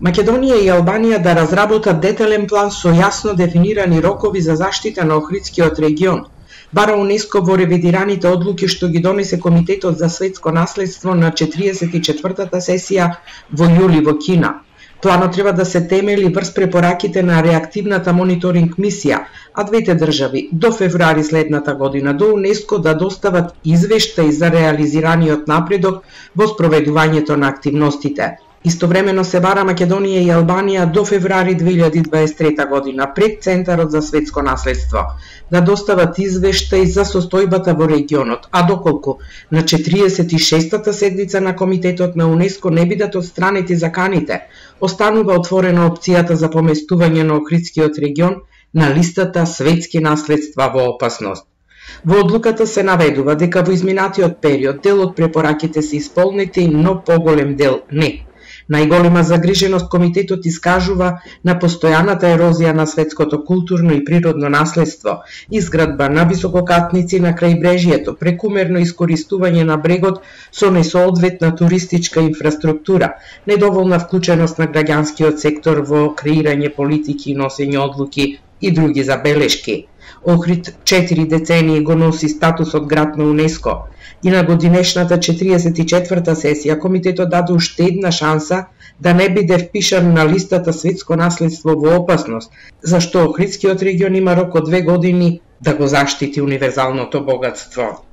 Македонија и Албанија да разработат детален план со јасно дефинирани рокови за заштита на Охридскиот регион, бара УНЕСКО во ревидираните одлуки што ги донесе Комитетот за светско наследство на 44-та сесија во јули во Кина. Планот треба да се темели врз препораките на реактивната мониторинг мисија, а двете држави до февруари следната година до УНЕСКО да достават извештај за реализираниот напредок во спроведувањето на активностите. Истовремено се бара Македонија и Албанија до февруари 2023 година пред Центарот за светско наследство да достават извештај за состојбата во регионот, а доколку на 46-та седница на Комитетот на УНЕСКО не бидат отстранети заканите, останува отворена опцијата за поместување на Охридскиот регион на листата светски наследства во опасност. Во одлуката се наведува дека во изминатиот период дел од препораките се исполнети, но поголем дел не. Најголема загриженост Комитетот искажува на постојаната ерозија на светското културно и природно наследство, изградба на висококатници на крајбрежјето, прекумерно искористување на брегот со несоодветна туристичка инфраструктура, недоволна вклученост на граѓанскиот сектор во креирање политики и носење одлуки и други забелешки. Охрид 4 децении го носи статусот град на УНЕСКО и на годинешната 44-та сесија Комитетот даде уште една шанса да не биде впишан на листата светско наследство во опасност, зашто Охридскиот регион има рок од 2 години да го заштити универзалното богатство.